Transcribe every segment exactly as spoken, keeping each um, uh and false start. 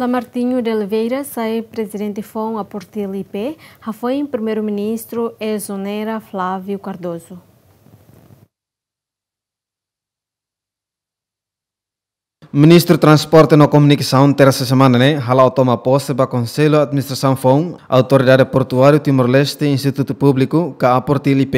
Martinho de Oliveira sai prezidente foun APORTIL I P, hafoin Primeiru-Ministru ezonera Flávio Cardoso. Ministru Transporte no Komunikasaun, tersa semana ne'e, hala'o toma pose ba Konsellu Administrasaun foun, Autoridade Portuáriu Timor-Leste, Institutu Públiku, ka APORTIL I P,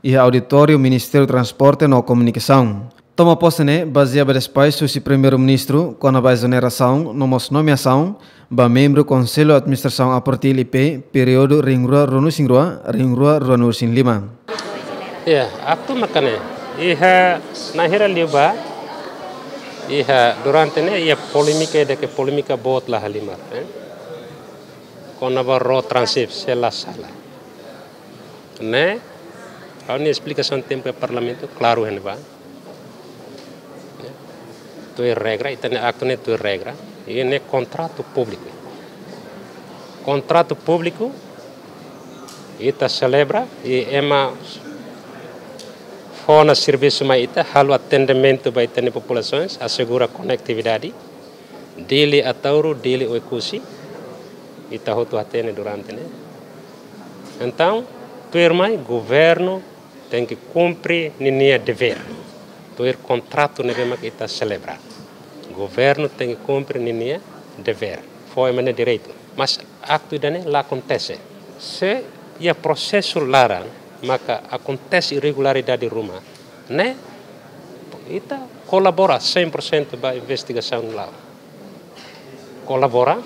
iha auditóriu Ministériu Transporte no Komunikasaun. Toma pose ne'e bazeia ba despaxu husi Primeiru-Ministru kona-ba ezonerasaun no mós nomeasaun ba membru Konsellu Administrasaun APORTIL I P, períodu rihun rua ruanulu-resin-rua, rihun rua ruanulu-resin-lima. Ya, aktu maka ne'e, iha naran hira liu ba, iha durante ne'e, iha polémika, ida ke polémika boot la halimar, eh? Kona-ba Rotransit, se la sala. Ne'e, ha'u-nia esplikasaun tempu iha Parlamentu, klaru iha ne'ebá. Tuir regra, ita-nia aktu ne'e tuir regra. I ne'e kontratu públiku. Kontratu públiku, ita selebra, i ema fó ona servisu mai ita, halo atendimentu ba ita-nia populasaun, asegura konetividade. Dili Ataúro, Dili Oekusi, ita hotu hatene durante ne'e. Entaun, tuirmai, governu tenke kumpre ninia devér. Tuir kontratu ne'ebé mak ita selebra. Governu tenke kumpre ninia devér. Fó ema nia direitu. Mas aktu ida-ne'e la akontese. Se iha prosesu laran, maka akontese irregularidade ruma, ne'e, ita kolabora cem por cento ba investigasaun la'o. Kolabora,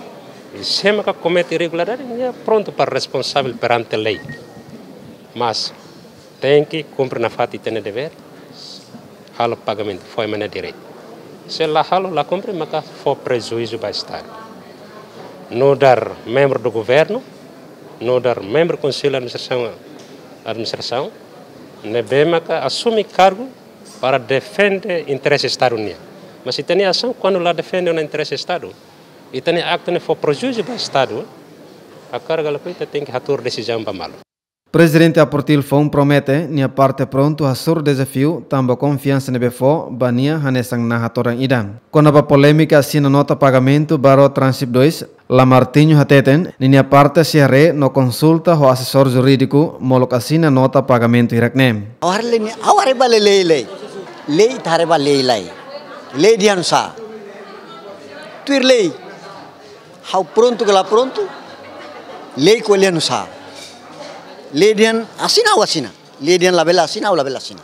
i se maka komete irregularidade, nia prontu para responsavel perante lei. Mas tenke kumpre nafatin ita-nia devér, halo pagamentu, fó ema nia direitu. Se la halo, la kumpre, maka fó prejuízu ba Estadu. Nu'udar membru do governu, nu'udar membru Konsellu Administrasaun, Administrasaun, ne'ebé maka asume kargu para defende interese Estadu nian. Mas ita-nia asaun, kuandu la defende ona interese Estadu, ita-nia aktu ne'e fó prejuízu ba Estadu, hakarak ka lakohi ita tenke hatuur desizaun ba malu. Prezidente APORTIL foun promete nia parte prontu hasoru dezafiu tanba konfiansa ne'ebé fó ba nia hanesan naha todan ida. Kona-ba polémika asina nota pagamentu ba Rotransit dois, Lamartinho hateten, ninia parte sei haree no konsulta ho asesór jurídiku molok asina nota pagamentu hirak ne'e. Ha'u haree lei ne'e, ha'u haree ba lei, lei, lei. Lei ita haree ba lei, lei. Lei dehan nusá? Tuir lei. Ha'u prontu ka la prontu, lei ko'alia nusá? Lei dehan asina, ha'u asina. Lei dehan labele asina, ha'u labele asina.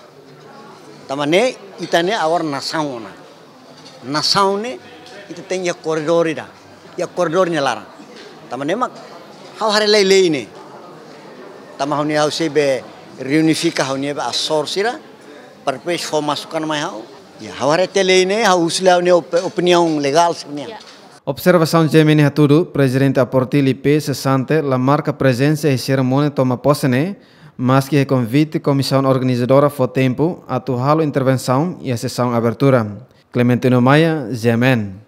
Tanba ne'e, ita ne'e agora nasaun ona. Nasaun ne'e, ita tenke iha koredór ida. Iha koredór nia laran. Tanba ne'e mak, ha'u haree lei, lei ne'e. Tanba ha'u-nia, ha'u sei be reunifika ha'u-nia be asesór sira, para depois fó masukan mai ha'u. Ya, ha'u haree tiha lei ne'e, ha'u husu lai ha'u-nia op-, opiniaun legál sira-nian. Ya. Observasaun GMN hatudu, Prezidente APORTIL I P sesante la marka prezensa iha serimónia toma pose ne'e, maski iha konvite komisaun organizadora fó tempu atu halo intervensaun iha sesaun abertura. Clementino Maia, GMN.